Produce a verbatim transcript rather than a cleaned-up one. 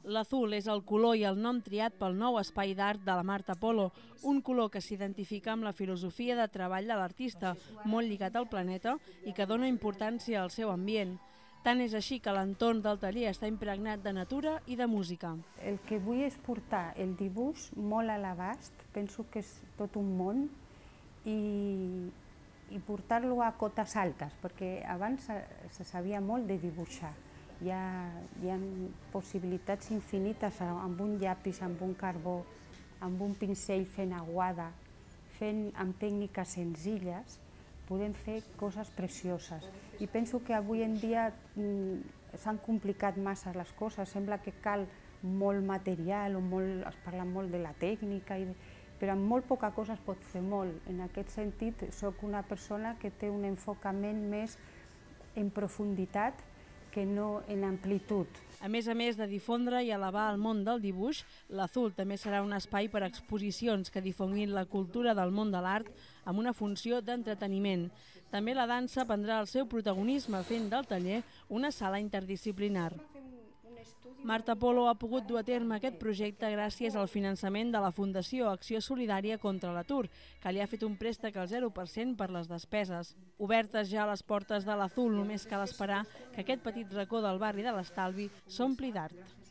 L'azul és el color i el nom triat pel nou espai d'art de la Marta Polo, un color que s'identifica amb la filosofia de treball de l'artista, molt lligat al planeta i que dona importància al seu ambient. Tant és així que l'entorn del taller està impregnat de natura i de música. El que vull és portar el dibuix molt a l'abast, penso que és tot un món, i, i portar-lo a cotes altes, perquè abans se, se sabia molt de dibuixar. Hi ha, hi ha possibilitats infinites amb un llapis, amb un carbó, amb un pincell fent aguada, fent amb tècniques senzilles, podem fer coses precioses. I penso que avui en dia s'han complicat massa les coses, sembla que cal molt material, o molt, es parla molt de la tècnica, i, però amb molt poca cosa es pot fer molt. En aquest sentit, soc una persona que té un enfocament més en profunditat que no en amplitud. A més a més de difondre i elevar el món del dibuix, l'Azul també serà un espai per a exposicions que difonguin la cultura del món de l'art amb una funció d'entreteniment. També la dansa prendrà el seu protagonisme fent del taller una sala interdisciplinar. Marta Polo ha pogut dur a terme aquest projecte gràcies al finançament de la Fundació Acció Solidària contra l'Atur, que li ha fet un préstec al zero per cent per les despeses. Obertes ja les portes de l'Azul, només cal esperar que aquest petit racó del barri de l'Estalvi s'ompli d'art.